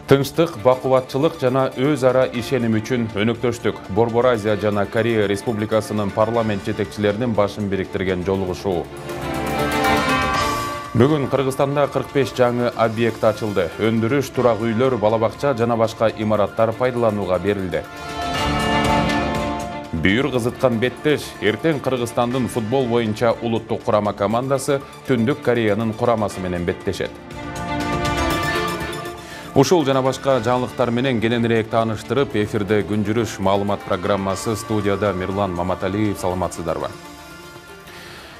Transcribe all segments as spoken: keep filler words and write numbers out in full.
Тынчтык, бакубатчылык жана өз ара ишеним үчүн өнөктөштүк. Борбор Азия жана Корея Республикасынын парламент жетекчилеринин башын бириктирген жолугушуу. Бүгүн Кыргызстанда кырк беш жаңы объект ачылды. Өндүрүш, турак үйлөр, бала бакча жана башка имараттар пайдаланууга берилди. Бүйүр кызыткан беттеш, эртең Кыргызстандын футбол боюнча улуттук курама командасы Түндүк Кореянын курамасы менен беттешет. Ушул жана башка жаңылыктар менен кененирээк тааныштырып, эфирде күн жүрүш маалымат программасы, студияда Мирлан Маматалиев. Саламатсыздарбы?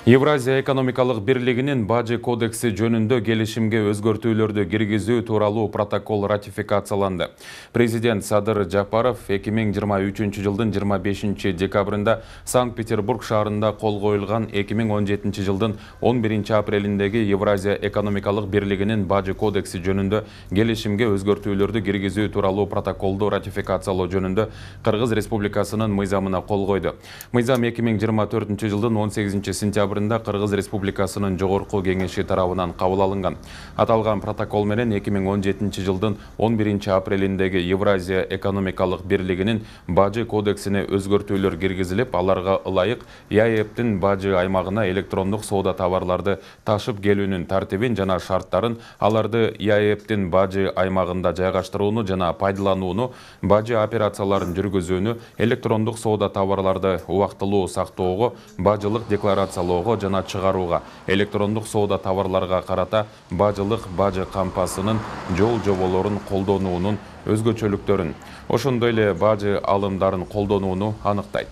Евразия экономикалык бирлигинин бажы кодекси жөнүндө келишимге өзгөртүүлөрдү киргизүү тууралуу протокол ратификацияланды. Президент Садыр Жапаров эки миң жыйырма үчүнчү жылдын жыйырма бешинчи декабрында Санкт-Петербург шаарында кол коюлган эки миң он жетинчи жылдын он биринчи апрелиндеги Евразия экономикалык бирлигинин бажы кодекси жөнүндө келишимге өзгөртүүлөрдү киргизүү тууралуу протоколду ратификациялоо жөнүндө Кыргыз Республикасынын мыйзамына кол койду. Мыйзам эки миң жыйырма төртүнчү жылдын он сегизинчи сентябрында Кыргыз Республикасынын жогорку кеңеши тарабынан кабыл алынган. Аталган протокол менен эки миң он жетинчи жылдын он биринчи апрелиндеги Евразия экономикалык бирлигинин бажы кодексине өзгөртүүлөр киргизилип, аларга ылайык ЕАЭБтин бажы аймагына электрондук соода товарларды ташып келүүнүн тартибин жана шарттарын, аларды ЕАЭБтин бажы аймагында жайгаштырууну жана пайдаланууну, бажы операцияларын жүргүзүүнү, электрондук соода товарларды убактылуу сактоого, бажылык декларациялоого жана чыгарууга, электрондук соода товарларга карата бажылык бажы кампасынын жол жоболорун колдонуунун өзгөчөлүктөрүн, ошондой эле бажы алымдарын колдонууну аныктайт.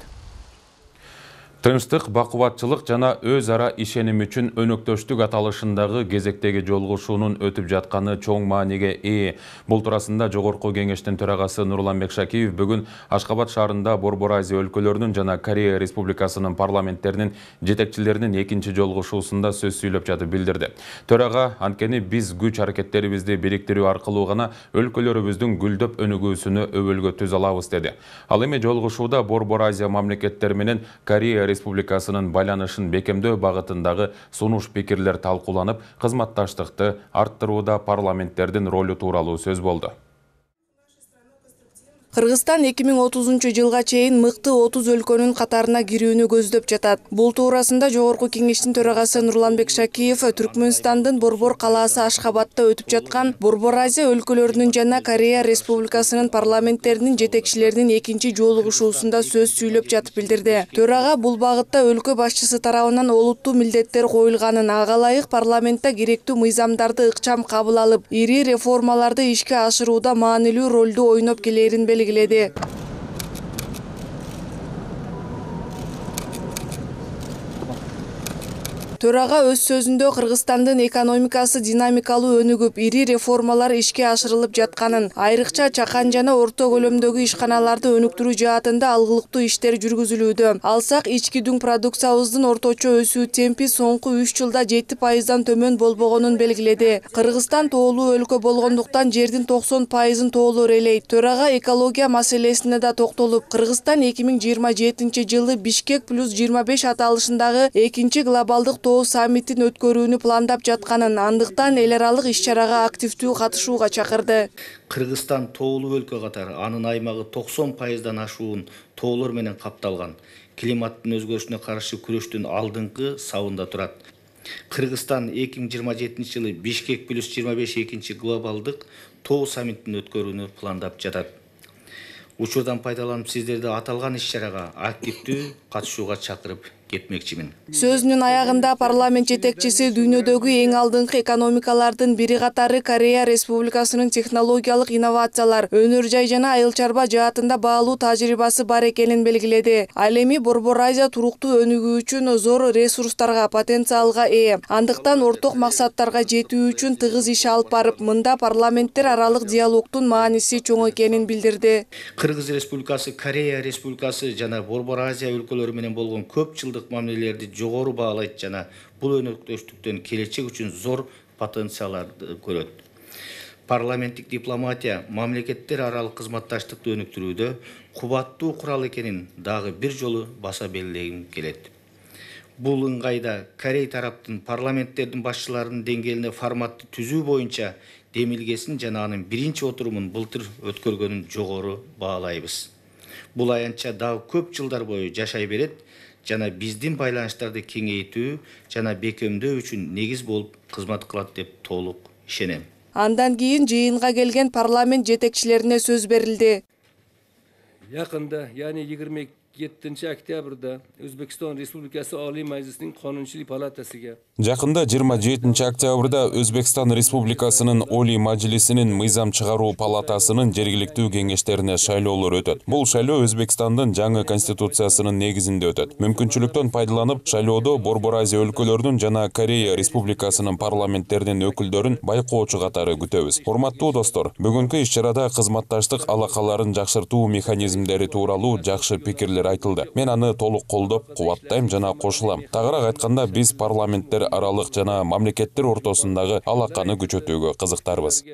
Тынчтык, бакубатчылык жана өз ара ишеним үчүн өнөктөштүк аталышындагы кезектеги жолугушуунун өтүп жатканы чоң мааниге ээ. Бул туурасында Жогорку кеңештин төрагасы Нурланбек Шакиев бүгүн Ашкабад шаарында Борбор Азия өлкөлөрүнүн жана Корея Республикасынын парламенттеринин жетекчилеринин экинчи жолугушуусунда сөз сүйлөп жатып билдирди. Төрага анткени биз күч аракеттерибизди бириктирүү аркылуу гана өлкөлөрүбүздүн гүлдөп өнүгүүсүнө өбөлгө түзө алабыз деди. Ал эми жолугушууда Борбор Азия мамлекеттери менен Корея Республикасынын байланышын бекемдөө багытындагы сунуш пикирлер талкууланып, кызматташтыкты арттырууда парламенттердин ролу тууралуу сөз болду. Кыргызстан эки миң отузунчу жылга чейин мыкты отуз өлкөнүн катарына кирүүнү көздөп жатат. Бул туурасында Жогорку кеңештин төрагасы Нурланбек Шакиев Түркмөнстандын Борбор калаасы Ашхабадта өтүп жаткан Борбор Азия өлкөлөрүнүн жана Корея Республикасынын парламенттеринин жетекчилеринин экинчи жолугушуусунда сөз сүйлөп жатып билдирди. Төрага бул багытта өлкө башчысы тарабынан олуттуу милдеттер коюлганын, ага ылайык парламентте керектүү мыйзамдарды ыкчам кабыл алып, ири реформаларды ишке ашырууда маанилүү ролду ойноп келерин белгиледи. Төрага өз сөзүндө Кыргызстандын экономикасы динамикалуу өнүгүп, ири реформалар ишке ашырылып жатканын, айрыкча чакан жана орто көлөмдөгү ишканаларды өнүктүрүү жаатында алгылыктуу иштер жүргүзүлүүдө. Алсак, ички дүң продукциябыздын орточо өсүү темпи соңку үч жылда жети пайыздан төмөн болбогонун белгиледи. Кыргызстан тоолуу өлкө болгондуктан жердин токсон пайызын тоолор элейт. Төрага экология маселесине да токтолуп, Кыргызстан эки миң жыйырма жетинчи жылы Бишкек плюс жыйырма беш аталышындагы экинчи глобалдык тоо саммитин өткөрүүнү пландап жатканын, андыктан эл аралык иш-чарага активдүү катышууга чакырды. Кыргызстан тоолуу өлкө катары анын аймагы токсон пайыздан ашуун тоолор менен капталган. Климаттын өзгөрүшүнө каршы күрөштүн алдыңкы сабында турат. Кыргызстан эки миң жыйырма жетинчи жылы Бишкек плюс жыйырма беш экинчи глобалдык тоо саммитин өткөрүүнү пландап жатат. Учурдан пайдаланып сиздерди аталган иш-чарага активдүү катышууга чакырып кетмекчимин. Сөзүнүн аягында парламент жетекчиси дүйнөдөгү эң алдыңкы экономикалардын бири катары Корея Республикасынын технологиялык инновациялар, өнөр жай жана айыл чарба жаатында баалуу тажрыйбасы бар экенин белгиледи. Ал эми Борбор Азия туруктуу өнүгүү үчүн зор ресурстарга, потенциалга ээ. Андыктан орток максаттарга жетүү үчүн тыгыз иш алып барып, мында парламенттер аралык диалогдун мааниси чоң экенин билдирди. Кыргыз Республикасы, Корея Республикасы жана Борбор Азия өлкөлөрү менен болгон көп жылдык мамилелерди жогору баалайт жана бул өнөктөштүктөн келечек үчүн зор потенциалды көрөт. Парламенттик дипломатия мамлекеттер аралык кызматташтыкты өнүктүрүүдө кубаттуу курал экенин дагы бир жолу баса белгилегим келет. Бул ыңгайда Корей тараптын парламенттердин башчыларынын деңгээлинде форматты түзүү боюнча демилгесин жана анын биринчи отурумун былтыр өткөргөнүн жогору баалайбыз. Бул аянтча дагы көп жылдар бою жашай берет жана биздин байланыштарды кеңейтүү жана бекемдөө үчүн негиз болуп кызмат кылат деп толук ишенем. Андан кийин жыйынга келген парламент жетекчилерине сөз берилди. Якында, яғни yigirma yettinchi oktyabrda O'zbekiston Respublikasi Oliy Majlisining Qonunchilik palatasiga Жакында жыйырма жетинчи октябрда Өзбекстан Республикасынын Олий Мажлисинин мыйзам чыгаруу палатасынын жергиликтүү кеңештерине шайлоолор өтөт. Бул шайлоо Өзбекстандын жаңы конституциясынын негизинде өтөт. Мүмкүнчүлүктөн пайдаланып, шайлоодо Борбор Азия өлкөлөрүнүн жана Корея Республикасынын парламенттеринин өкүлдөрүн байкоочу катары күтөбүз. Урматтуу достор, бүгүнкү иш-чарада кызматташтык алакаларын жакшыртуу механизмдери тууралуу жакшы пикирлер айтылды. Мен аны толук колдоп, кубаттайм жана кошулам. Тагыраак айтканда, биз парламенттер аралык жана мамлекеттер ортосундагы алаканы күчөтүүгө кызыктарбыз.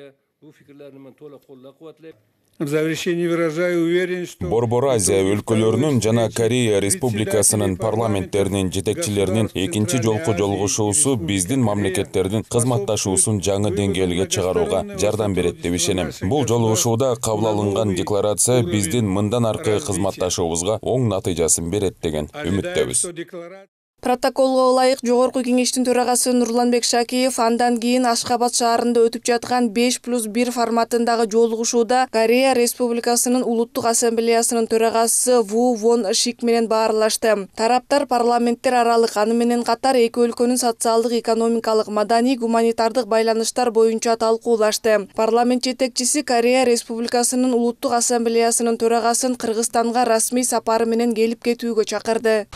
В завершении выражаю уверенность, что Борбор Азия өлкөлөрүнүн жана Корея Республикасынын парламенттеринин жетекчилеринин экинчи жолку жолугушуусу биздин мамлекеттердин кызматташуусун жаңы деңгээлге чыгарууга жардам берет деп ишенем. Бул жолугушууда кабыл алынган декларация биздин мындан аркы кызматташуубузга оң натыйжасын берет деген үмүттөбүз. Протоколго ылайык Жогорку кеңештин төрагасы Нурланбек Шакиев андан кийин Ашхабад шаарында өтүп жаткан беш плюс бир форматындагы жолугушууда Корея Республикасынын Улуттук Ассамблеясынын төрагасы Ву Вон Шик менен баарлашты. Тараптар парламенттер аралык, аны менен катар эки өлкөнүн социалдык, экономикалык, маданий, гуманитардык байланыштар боюнча талкуулашты. Парламент жетекчиси Корея Республикасынын Улуттук Ассамблеясынын төрагасын Кыргызстанга расмий сапары менен келип кетүүгө чакырды.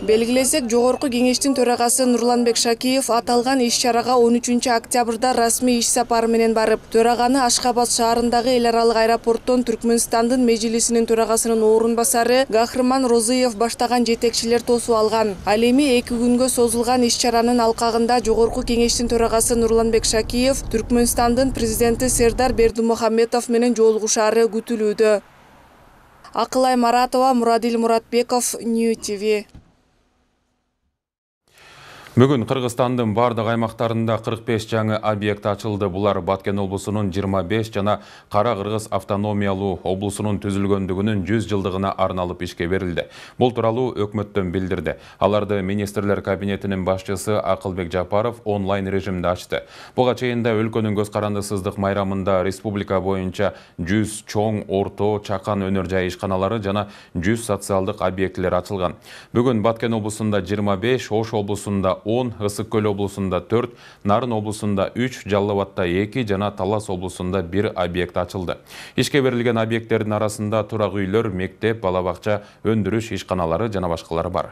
Белгилесек, Жогорку кеңештин төрагасы Нурланбек Шакиев аталган иш-чарага он үчүнчү октябрда расмий иш сапары менен барып, төраганы Ашхабад шаарындагы эл аралык аэропорттон Түркмөнстандын Мejlisинин төрагасынын орун басары Гахрыман Розыев баштаган жетекчилер тосуп алган. Ал эми эки күнгө созулган иш-чаранын алкагында Жогорку кеңештин төрагасы Нурланбек Шакиев Түркмөнстандын президенти Сердар Бердимухамедов менен жолугушаары күтүлүүдө. Акылай Маратова, Мурадил Муратбеков, Нью ти ви. Бүгүн Кыргызстандын бардык аймактарында кырк беш жаңы объект ачылды. Булар Баткен облусунун жыйырма беш жана Кара Кыргыз автономиялуу облусунун түзүлгөндүгүнүн жүз жылдыгына арналып ишке берилди. Бул тууралуу өкмөттөн билдирди. Аларды министрлер кабинетинин башчысы Акылбек Жапаров онлайн режимде ачты. Буга чейин да өлкөнүн көз карандысыздык майрамында республика боюнча жүз чоң, орто, чакан өнөр жай ишканалары жана жүз социалдык объектилер ачылган. Бүгүн Баткен облусунда жыйырма беш, Ош облусунда он, Ысык Көл облусунда төрт, Нарын облусунда үч, Жалал Абадта эки жана Талас облусунда бир объект ачылды. Ишке берилген объекттердин арасында турак үйлөр, мектеп, бала бакча, өндүрүш ишканалары жана башкалары бар.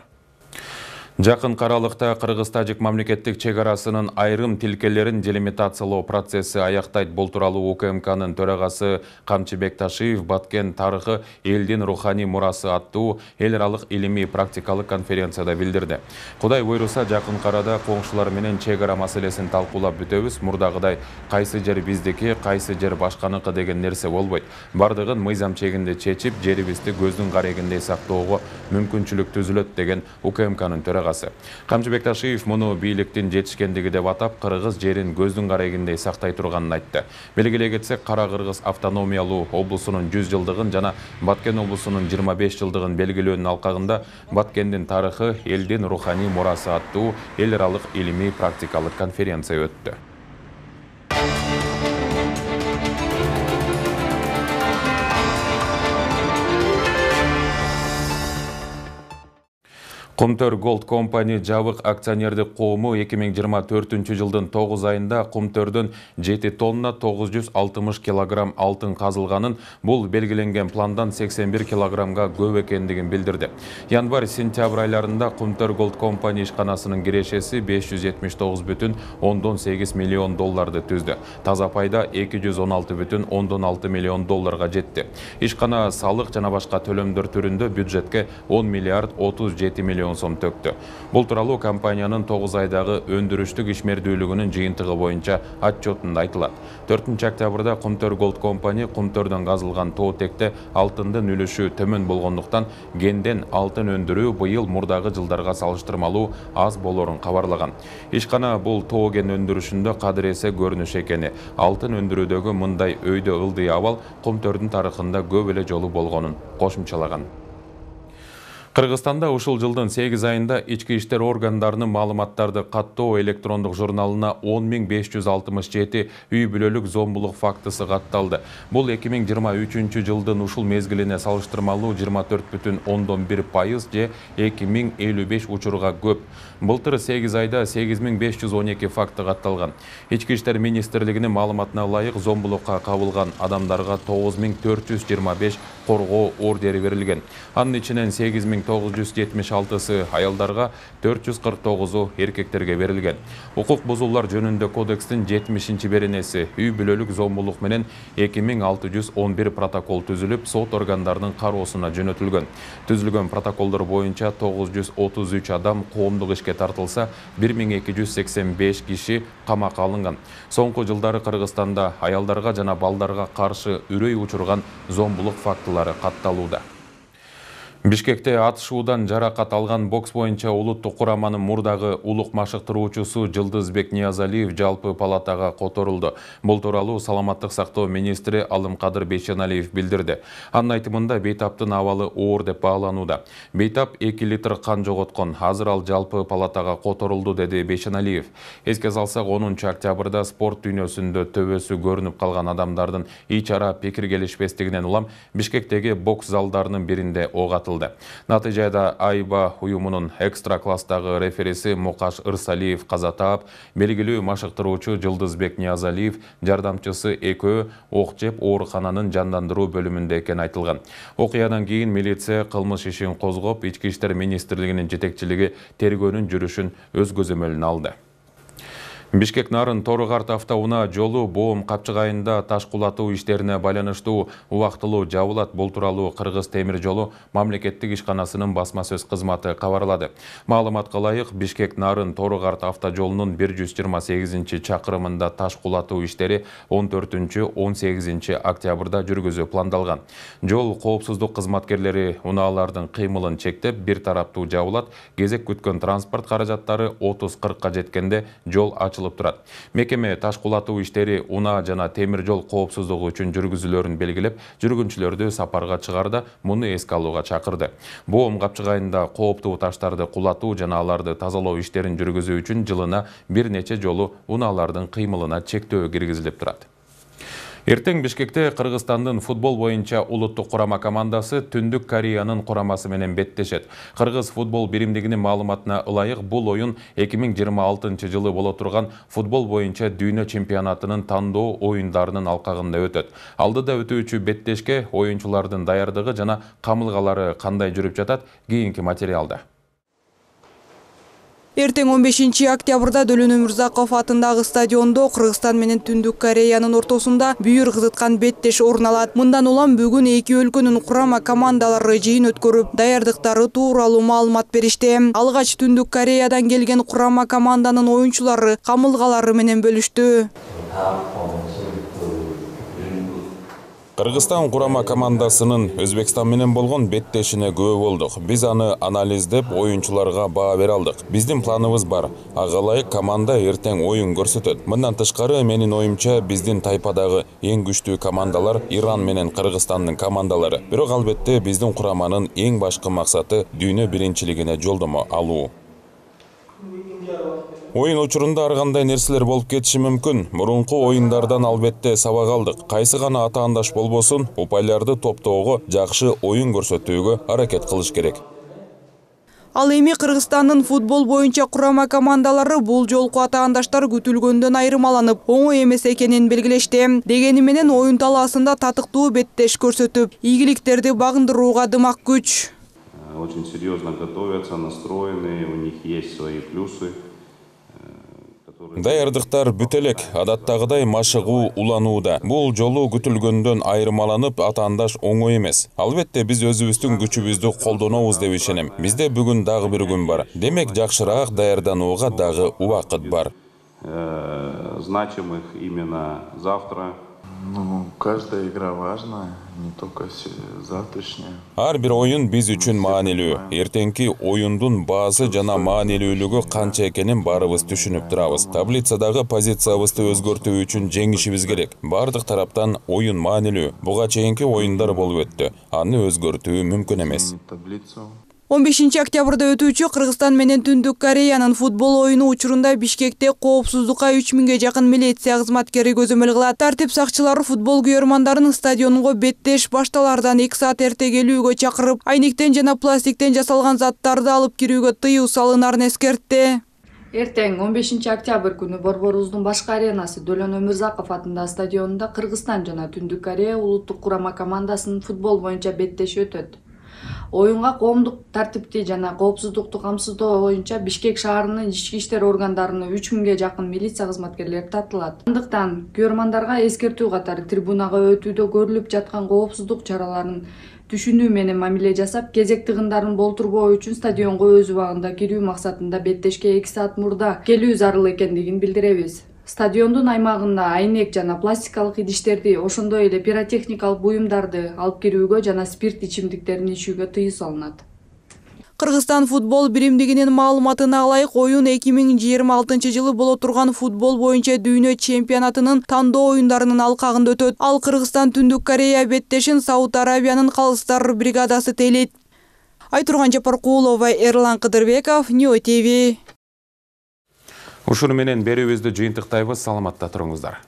Жакын каралыкта Кыргыз-Тажик мамлекеттик чегарасынын айрым тилкелерин делимитациялоо процесси аяктайт. Бул тууралуу У К М К'нын төрагасы Камчыбек Ташиев Баткен тарыхы элдин руханий мурасы аттуу эл аралык илимий практикалык конференцияда билдирди. Кудай буйруса, жакын карада коңшулар менен чегара маселесин талкуулап бүтөбүз. Мурдагыдай кайсы жер биздики, кайсы жер башканыкы деген нерсе болбойт. Бардыгын мыйзам чегинде чечип, жерибизди көздүн карегиндей сактоого мүмкүнчүлүк түзүлөт деген У К М К'нын төрагасы. Камчыбек Ташиев муну бийликтин жетишкендиги деп атап, Кыргыз жерин көздүн карегиндей сактай турганын айтты. Белгилей кетсек, Кара Кыргыз автономиялуу облусунун жүз жылдыгын жана Баткен облусунун жыйырма беш жылдыгын белгилөөнүн алкагында Баткендин тарыхы элдин руханий мурасы аттуу эл аралык илимий практикалык конференция өттү. Кумтөр Gold Company жабык акционердик коому эки миң жыйырма төртүнчү жылдын тогуз айында Кумтөрдөн жети тонна тогуз жүз алтымыш килограмм алтын казылганын, бул белгиленген пландан сексен бир килограммга көп экендигин билдирди. Январь-сентябрь айларында Кумтөр Gold Company ишканасынын кирешеси беш жүз жетимиш тогуз бүтүн ондон сегиз миллион долларды түздү. Таза пайда эки жүз он алты бүтүн ондон алты миллион долларга жетти. Ишкана салык жана башка төлөмдөр түрүндө бюджетке он миллиард отуз жети миллион сом төктү. Бул тууралуу компаниянын тогуз айдагы өндүрүштүк ишмердүүлүгүнүн жыйынтыгы боюнча отчетунда айтылат. төртүнчү октябрда Кумтөр Gold Company Кумтөрдөн казылган тоотекте алтындын үлүшү төмөн болгондуктан генден алтын өндүрүү быйыл мурдагы жылдарга салыштырмалуу аз болорун кабарлаган. Ишкана бул тооген өндүрүшүндө кадыресе көрүнүш экени, алтын өндүрүүдөгү мындай өйдө ылдый абал Кумтөрдүн тарыхында көп эле жолу болгонун кошумчалаган. Кыргызстанда ушул жылдын сегиз айында ички иштер органдарынын маалыматтарды каттоо электрондук журналына он миң беш жүз алтымыш жети үй бүлөлүк зомбулук фактысы катталды. Бул эки миң жыйырма үчүнчү жылдын ушул мезгилине салыштырмалуу жыйырма төрт бүтүн ондон бир пайыз же эки миң элүү беш учурга көп. Былтыр сегиз айда сегиз миң беш жүз он эки факты катталган. Ички иштер министрлигинин маалыматына ылайык зомбулукка кабылган адамдарга тогуз миң төрт жүз жыйырма беш коргоо ордери берилген. Анын ичинен сегиз миң тогуз жүз жетимиш алтысы аялдарга, төрт жүз кырк тогузу эркектерге берилген. Укук бузуулар жөнүндө кодекстин жетимишинчи беренеси үй бүлөлүк зомбулук менен эки миң алты жүз он бир протокол түзүлүп, сот органдарынын кароосуна жөнөтүлгөн. Түзүлгөн протоколдор боюнча тогуз жүз отуз үч адам коомдук ишке тартылса, бир миң эки жүз сексен беш киши камакка алынган. Соңку жылдары Кыргызстанда аялдарга жана балдарга каршы үрөй учурган зомбулук фактылары катталууда. Бишкекте атышуудан жаракат алган бокс боюнча улуттук кураманын мурдагы улук машыктыруучусу Жылдызбек Ниязалиев жалпы палатага которулду. Бул тууралуу саламаттык сактоо министри Алымкадыр Бейшеналиев билдирди. Анын айтымында бейтаптын абалы оор деп бааланууда. Бейтап эки литр кан жоготкон. Азыр ал жалпы палатага которулду, деди Бейшеналиев. Эске салсак, онунчу октябрда спорт дүйнөсүндө төбөсү көрүнүп калган адамдардын ич ара пикир келишпестигинен улам Бишкектеги бокс залдарынын биринде ок атылды. Натыйжада Айба уюмунун экстра класстагы рефериси Мукаш Ырсалиев каза таап, белгилүү машыктыруучу Жылдызбек Ниязалиев жардамчысы экөө ок жеп оорукананын жандандыруу бөлүмүндө экени айтылган. Окуядан кийин милиция кылмыш ишин козгоп, ички иштер министрлигинин жетекчилиги тергөөнүн жүрүшүн өз көзөмөлүнө алды. Бишкек Нарын Тору-Карт автоунаа жолу Боом капчыгайында таш кулатуу иштерине байланыштуу убактылуу жабылат. Бул тууралуу Кыргыз темир жолу мамлекеттик ишканасынын басма сөз кызматы кабарлады. Маалыматка ылайык, Бишкек Нарын Тору-Карт автожолунун бир жүз жыйырма сегизинчи чакырымында таш кулатуу иштери он төртүнчү он сегизинчи октябрда жүргүзүү пландалган. Жол коопсуздук кызматкерлери унаалардын кыймылын чектеп, бир тараптуу жабылат. Кезек күткөн транспорт каражаттары отуз кыркка жеткенде жол ачылат. Мекеме таш кулатуу иштери унаа жана темир жол коопсуздугу үчүн жүргүзүүлөрүн белгилеп, жүргүнчүлөрдү сапарга чыгарда муну эске алууга чакырды. Боом капчыгайында кооптуу таштарды кулатуу жана аларды тазалоо иштерин жүргүзүү үчүн жылына бир нече жолу унаалардын кыймылына чектөө киргизилип турат. Эртең Бишкекте Кыргызстандын футбол боюнча улуттук курама командасы Түндүк Кореянын курамасы менен беттешет. Кыргыз футбол биримдигинин маалыматына ылайык, бул оюн эки миң жыйырма алтынчы жылы боло турган футбол боюнча дүйнө чемпионатынын тандоо оюндарынын алкагында өтөт. Алдыда өтүүчү беттешке оюнчулардын даярдыгы жана камылгалары кандай жүрүп жатат, кийинки материалда. Эртең он бешинчи октябрда Дөлөн Өмүрзаков атындагы стадиондо Кыргызстан менен Түндүк Кореянын ортосунда бүйүр кызыткан беттеш орун алат. Мындан улам бүгүн эки өлкөнүн курама командалары жыйын өткөрүп, даярдыктары тууралуу маалымат беришти. Алгач Түндүк Кореядан келген курама команданын оюнчулары камылгалары менен бөлүштү. Кыргызстан курама командасынын Өзбекстан менен болгон беттешине күбө болдук. Биз аны анализдеп, оюнчуларга баа бере алдык. Биздин планыбыз бар. Ага ылайык команда эртең оюн көрсөтөт. Мындан тышкары, менин оюмча, биздин тайпадагы эң күчтүү командалар Иран менен Кыргызстандын командалары. Бирок албетте биздин кураманын эң башкы максаты дүйнө биринчилигине жолдомо алуу. Оюн учурунда ар кандай нерселер болуп кетиши мүмкүн. Мурунку оюндардан албетте сабак алдык. Кайсы гана атаандаш болбосун, упайларды топтоого, жакшы оюн көрсөтүүгө аракет кылыш керек. Ал эми Кыргызстандын футбол боюнча курама командалары бул жолку атаандаштар күтүлгөндөн айырмаланып, оңой эмес экенин белгилешти. Дегени менен оюн талаасында татыктуу беттеш көрсөтүп, ийгиликтерди багындырууга дымак күч. Очень серьезно готовятся, настроены, у них есть свои плюсы. Даярдыктар бүт элек, адаттагыдай машыгуу уланууда. Бул жолу күтүлгөндөн айырмаланып, атаандаш оңой эмес. Албетте биз өзүбүздүн күчүбүздү колдонобуз деп ишенем. Бизде бүгүн дагы бир күн бар. Демек жакшыраак даярданууга дагы убакыт бар. Значимых именно завтра. Ну, каждая игра важна, не только завтрашняя. Ар бир оюн биз үчүн маанилүү. Эртеңки оюндун баасы жана маанилүүлүгү канча экенин баарыбыз түшүнүп турабыз. Таблицадагы позициябызды өзгөртүү үчүн жеңишибиз керек. Бардык тараптан оюн маанилүү. Буга чейинки оюндар болуп өттү. Аны өзгөртүү мүмкүн эмес. он бешинчи октябрда өтүүчү Кыргызстан менен Түндүк Кореянын футбол оюну учурунда Бишкекте коопсуздукка үч миңге жакын милиция кызматкери көзөмөл кылат. Тартип сакчылары футбол күйөрмандарын стадионго беттеш башталардан эки саат эрте келүүгө чакырып, айниктен жана пластиктен жасалган заттарды алып кирүүгө тыюу салынарын эскертти. Эртең он бешинчи октябрь күнү Борборубуздун башкы аренасы Дөлөн Өмүрзаков атындагы стадионунда Кыргызстан жана Түндүк Корея улуттук курама командасынын футбол боюнча беттеши өтөт. Оюнга коомдук тартипти жана коопсуздукту камсыздоо боюнча Бишкек шаарынын ички иштер органдарына үч миңге жакын милиция кызматкерлери тартылат. Андыктан күйөрмандарга эскертүү катары трибунага өтүүдө көрүлүп жаткан коопсуздук чараларын түшүнүү менен мамиле жасап, кезек тыгындарын болтурбоо үчүн стадионго өз убагында кирүү максатында беттешке эки саат мурда келүү зарыл экендигин билдиребиз. Стадиондун аймагында айнек жана пластикалык идиштерди, ошондой эле пиротехникалык буюмдарды алып кирүүгө жана спирт ичимдиктерин ичүүгө тыюу салынат. Кыргызстан футбол биримдигинин маалыматына ылайык, оюн эки миң жыйырма алтынчы жылы боло турган футбол боюнча дүйнө чемпионатынын тандоо оюндарынын алкагында өтөт. Ал Кыргызстан Түндүк Корея беттешин Сауд Арабиянын калыстар бригадасы тейлейт. Айтурган Жапаркулова, Эрлан Кыдырбеков, Ньюс ти ви. Ушуну менен берүүбүздү жыйынтыктайбыз. Саламатта туруңуздар.